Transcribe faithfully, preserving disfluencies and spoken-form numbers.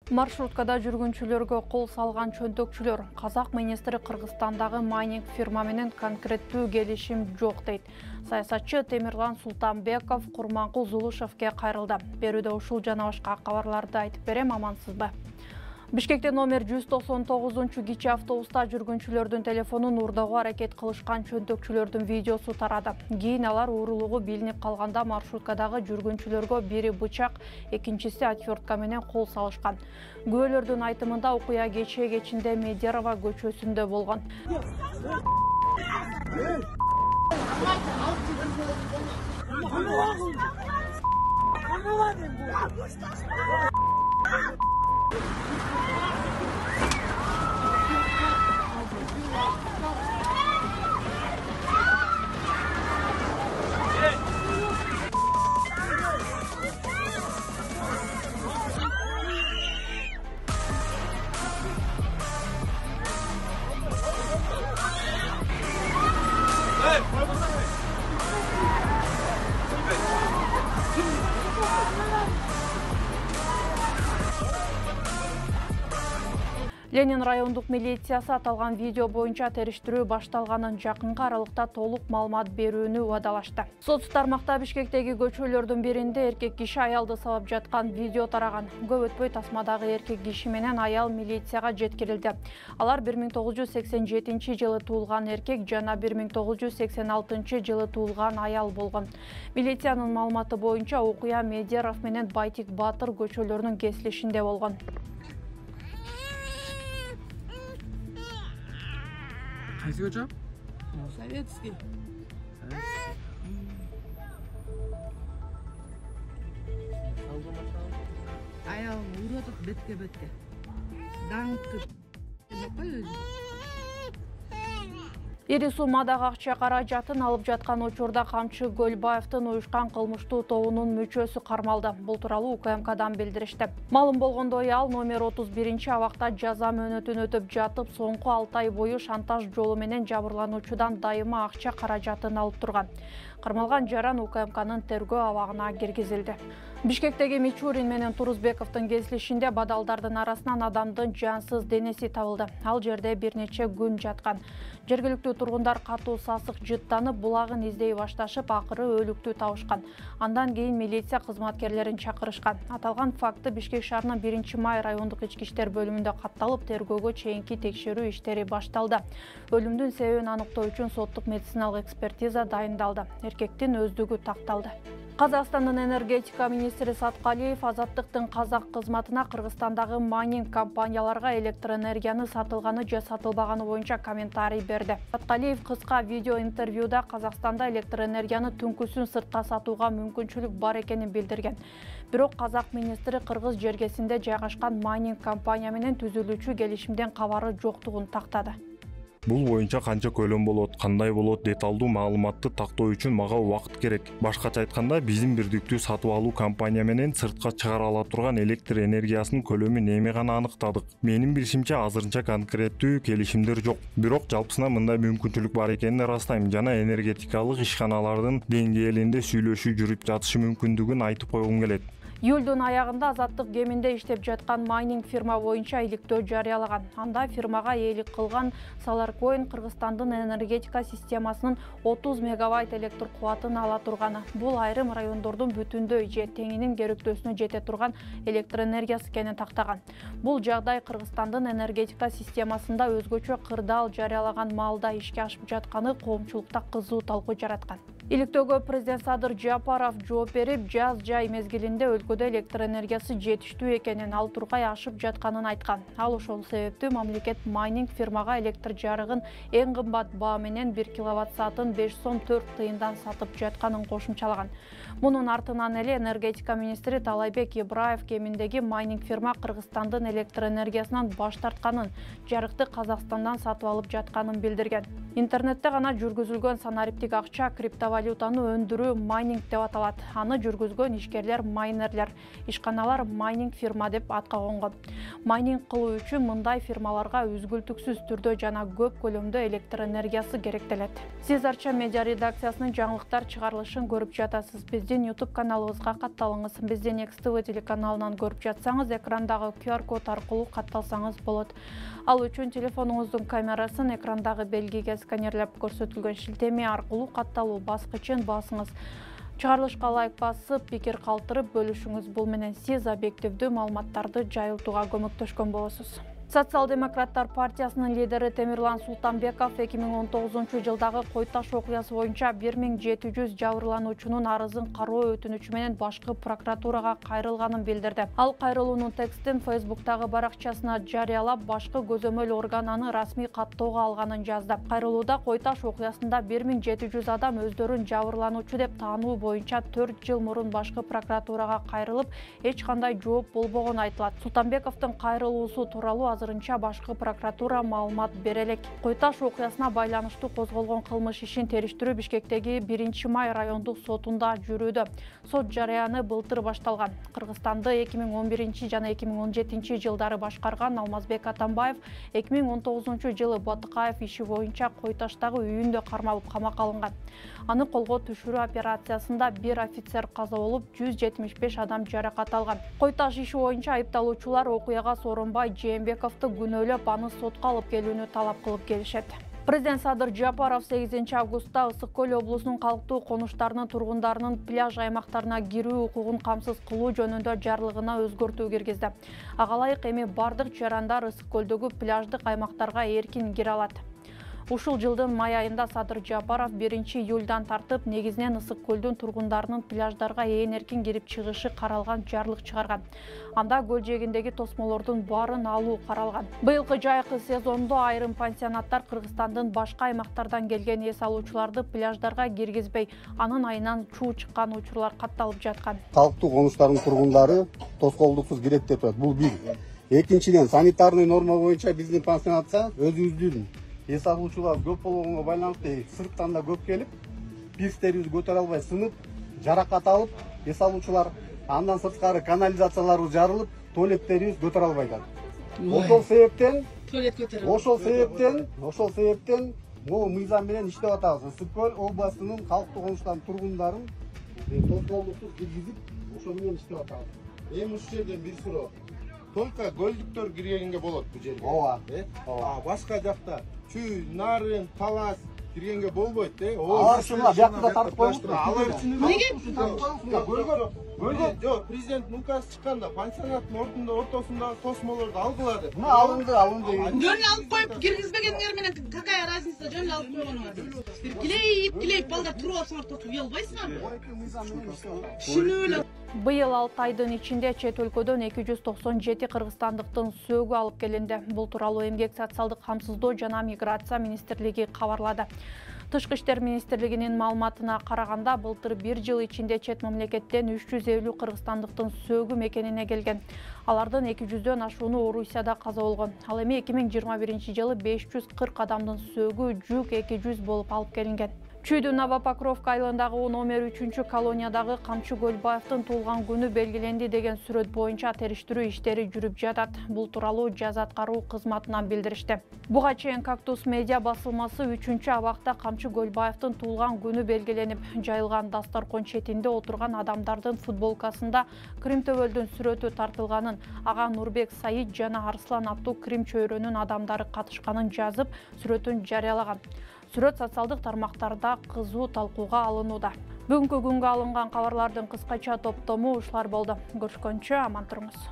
Маршруткада жүргүнчүлөргө кол салган чөнтөкчүлөр. Казак министри Кыргызстандагы майнинг фирма менен конкреттүү келишим жок дейт. Саясатчы Темирлан Султанбеков Курманкул Зулушевке кайрылды. Берүүдө ушул жана башка кабарларды айтып берем, амансызбы? Бишкекте номер жүз токсон тогузунчу кичи автобуста жүргүнчүлөрдүн телефонун уурдоого аракет кылышкан чөнтөкчүлөрдүн видеосу тарады. Кийин алар уурулугу билинип калганда маршруткадагы жүргүнчүлөргө бири бычак, экинчиси отвертка менен кол салышкан. Күбөлөрдүн айтымында окуя кечээ кечинде Медерова көчөсүндө болгон. Ленин райондук милициясы аталган видео боюнча териштирүү башталганын, жакынкы аралыкта толук маалымат берүүнү убадалашты. Соц тармакта Бишкектеги көчөлөрдүн биринде эркек киши аялды сабап жаткан видео тараган. Көп өтпөй тасмадагы эркек киши менен аял милицияга жеткирилди. Алар бир миң тогуз жүз сексен жетинчи жылы туулган эркек жана бир миң тогуз жүз сексен алтынчы жылы туулган аял болгон. Милициянын маалыматы боюнча окуя Медеров менен Байтик Батыр көчөлөрүнүн кесилишинде болгон. Кайсы көчө? Советский. Аял уротуп бетке бетке. Даңкып. Ири суммадагы акча каражатын алып жаткан учурда Камчы Көлбаевдин уюшкан кылмыштуу тобунун мүчөсү кармалды. Бул тууралуу У К М Кдан билдиришти. Маалым болгондой, ал номер отуз биринчи абакта жаза мөөнөтүн өтөп жатып, соңку алты ай бою шантаж жолу менен жабырлануучудан дайыма акча каражатын алып турган. Кармалган жаран У К М Кнын тергөө абагына киргизилди. Бишкектеги Мичурин менен Турузбековдун кесилишинде бадалдардын арасынан адамдын жансыз денеси табылды. Ал жерде бир нече күн жаткан. Жергиликтүү тургундар катуу сасык жыттанып, булагын издей башташып, акыры өлүктү табышкан. Андан кийин милиция кызматкерлерин чакырышкан. Аталган факты Бишкек шаарынын биринчи май райондук ички иштер бөлүмүндө катталып, тергөөгө чейинки текшерүү иштери башталды. Өлүмдүн себебин аныктоо үчүн соттук медициналык экспертиза дайындалды. Эркектин өздүгү такталды. Казакстандын энергетика министри Саткалиев Азаттыктын казак кызматына Кыргызстандагы майнинг компанияларга электр энергияны сатылганы же сатылбаганы боюнча комментарий берди. Саткалиев кыска видео интервьюда Казакстанда электр энергияны түнкүсүн сыртка сатууга мүмкүнчүлүк бар экенин билдирген. Бирок казак министри кыргыз жергесинде жайгашкан майнинг компания менен түзүлүүчү келишимден кабары жоктугун тактады. Бул боюнча канча көлөм болот, кандай болот деталдуу маалыматты тактоо үчүн мага убакыт керек. Башкача айтканда, биздин бирдиктүү сатып алуу компания менен сыртка чыгара ала турган электр энергиясынын көлөмүн эми гана аныктадык. Менин билишимче, азырынча конкреттүү келишимдер жок. Бирок жалпысынан мындай мүмкүнчүлүк бар экенин ырастайм жана энергетикалык ишканалардын деңгээлинде сүйлөшүү жүрүп жатышы мүмкүндүгүн айтып койгум келет. Июлдун аягында Азаттык кеминде иштеп жаткан майнинг фирма боюнча иликтөө жарыялаган. Анда фирмага ээлик кылган Solarcoin Кыргызстандын энергетика системасынын отуз мегаватт электр кубатын ала турганы. Бул айрым райондордун бүтүндөй же теңинин керектөөсүнө жете турган электр энергиясы экенин тактаган. Бул жагдай Кыргызстандын энергетика системасында өзгөчө кырдаал жарыялаган маалда ишке ашып жатканы коомчулукта кызуу талкуу жараткан. Иликтөөгө президент Садыр Жапаров жооп берип, жаз жай мезгилинде өлкөдө электр энергиясы жетиштүү экенин, ал тургай ашып жатканын айткан. Ал ошол себептүү мамлекет майнинг фирмага электр жарыгын эң кымбат баа менен бир киловатт саатын беш сом төрт тыйындан сатып жатканын кошумчалаган. Мунун артынан эле энергетика министри Талайбек Ибраев кеминдеги майнинг фирма Кыргызстандын электр энергиясынан баш тартканын, жарыкты Казакстандан сатып алып жатканын билдирген. Интернетте гана жүргүзүлгөн санариптик акча криптовалютаны өндүрүү майнинг деп аталат. Аны жүргүзгөн ишкерлер майнерлер, ишканалар майнинг фирма деп атка конгон. Майнинг кылуу үчүн мындай фирмаларга үзгүлтүксүз түрдө жана көп көлөмдө электр энергиясы керектелет. Сиз Арча медиа редакциясынын жаңылыктар чыгарылышын көрүп жатасыз. Биздин YouTube каналыбызга катталыңыз. Биздин Экс Тэ Вэ телеканалынан көрүп жатсаңыз, экрандагы ку ар код аркылуу катталсаңыз болот. Ал үчүн телефонуңуздун камерасын экрандагы белгиге сканерлеп көрсөтүлгөн шилтеме аркылуу катталуу баскычын басыңыз. Чыгарылышка лайк басып, пикир калтырып бөлүшүңүз. Бул менен сиз объективдүү маалыматтарды жайылтууга көмөктөшкөн болосуз. Социал-демократтар партиясынын лидери Темирлан Султанбеков эки миң он тогузунчу жылдагы Кой Таш окуясы боюнча бир миң жети жүз жабырлануучунун арызын кароо өтүнүчү менен башкы прокуратурага кайрылганын билдирди. Ал кайрылуунун текстин Фейсбуктагы баракчасына жарыялап, башкы көзөмөл орган аны расмий каттоого алганын жазды. Кайрылууда Кой Таш окуясында бир миң жети жүз адам өздөрүн жабырлануучу деп таануу боюнча төрт жыл мурун башкы прокуратурага кайрылып, эч кандай жооп болбогону айтылат. Султанбековдун кайрылуусу тууралуу азырынча башкы прокуратура маалымат бере элек. Кой Таш окуясына байланыштуу козголгон кылмыш ишин териштирүү Бишкектеги биринчи май райондук сотунда жүрүүдө. Сот жарыяны былтыр башталган. Кыргызстанды эки миң он биринчи жана эки миң он жетинчи жылдары башкарган Алмазбек Атамбаев эки миң он тогузунчу жылы Батыкаев иши боюнча Кой Таштагы үйүндө кармалып камакка алынган. Аны колго түшүрүү операциясында бир офицер каза болуп, жүз жетимиш беш адам жаракат алган. Кой Таш иши боюнча айыпталуучулар окуяга Сооронбай Жээнбековду күнөөлөп, аны сотко алып келүүнү талап кылып келишет. Президент Садыр Жапаров сегизинчи августта Ысык Көл облусунун калктуу конуштарынын тургундарынын пляж аймактарына кирүү укугун камсыз кылуу жөнүндө жарлыгына өзгөртүү киргизди. Ага ылайык эми бардык жарандар Ысык Көлдөгү пляждык аймактарга эркин кире алат. Ушул жылдын май айында Садыр Жапаров биринчи июлдан тартып негизинен Ысык Көлдүн тургундарынын пляждарга ээн эркин кирип чыгышы каралган жарлык чыгарган. Анда көл жээгиндеги тосмолордун баарын алуу каралган. Быйылкы жайкы сезондо айрым пансионаттар Кыргызстандын башка аймактардан келген эс алуучуларды пляждарга киргизбей, анын айынан чуу чыккан учурлар катталып жаткан. Калктуу конуштардын тургундары тоскоолдуксуз кирет деп турат. Бул бир. Экинчиден, санитарный норма боюнча биздин пансионатка өзүбүздүн эс алуучулар көп болгонго байланыштуу сырттан да көп келип, пирстерибизди көтөрө албай сынып, жаракат алып, эс алуучулар андан сырткары канализацияларыбыз жарылып, туалеттерибиз көтөрө албай атат. Ошол себептен, ошол себептен, ошол себептен могу мыйзам менен иштеп атабыз. Ысык Көл областынын калктуу конуштарынын тургундарын тоскоолдуксуз киргизип, ошол менен иштеп атабыз. Эми ушул жерден бир суроо. Только көлдүктөр киргенге болот бул жерге. Ооба. А башка жакта Чүй, Нарын, Талас киргенге болбойт, э? Алар ушуна биякта тартып коюңузбу. Алар үчүн Неге? Жок, президент указ чыкканда пансионаттын ортунда ортосундагы тосмолорду алгыла деп. Мына алынды, алынды. Жөн алып коюп киргизбегендер менен какая разница, жөн алып койгонуңар. Килейип, килейип балдар туруп алсаңар тосуп уялбайсыңарбы? Түшүнүп эле. Быйыл алты айдын ичинде чет өлкөдөн эки жүз токсон жети кыргызстандыктын сөөгү алып келинди. Бул тууралуу Эмгек социалдык камсыздоо жана миграция министрлиги кабарлады. Тышкы иштер министрлигинин маалыматына караганда, былтыр бир жыл ичинде чет мамлекеттен үч жүз элүү кыргызстандыктын сөөгү мекенине келген. Алардын эки жүздөн ашууну Орусияда каза болгон. Ал эми эки миң жыйырма биринчи жылы беш жүз кырк адамдын сөөгү жүк эки жүз болуп алып келинген. Чүйдүн Новопокровка айылындагы номер үчүнчү колониядагы Камчы Көлбаевдин туулган күнү белгиленди деген сүрөт боюнча териштирүү иштери жүрүп жатат. Бул тууралуу жаза аткаруу кызматынан билдиришти. Буга чейин Кактус медиа басылмасы үчүнчү абакта Камчы Көлбаевдин туулган күнү белгиленип, жайылган дасторкон четинде отурган адамдардын футболкасында Крим төбөлдүн сүрөтү тартылганын, ага Нурбек Саид жана Арслан аттуу Крим чөйрөнүн адамдары катышканын жазып, сүрөтүн жарыялаган. Сүрөт социалдык тармактарда кызуу талкууга алынууда. Бүгүнкү күнгө алынган кабарлардын кыскача топтому ушулар болду. Көрүшкөнчө аман туруңуз.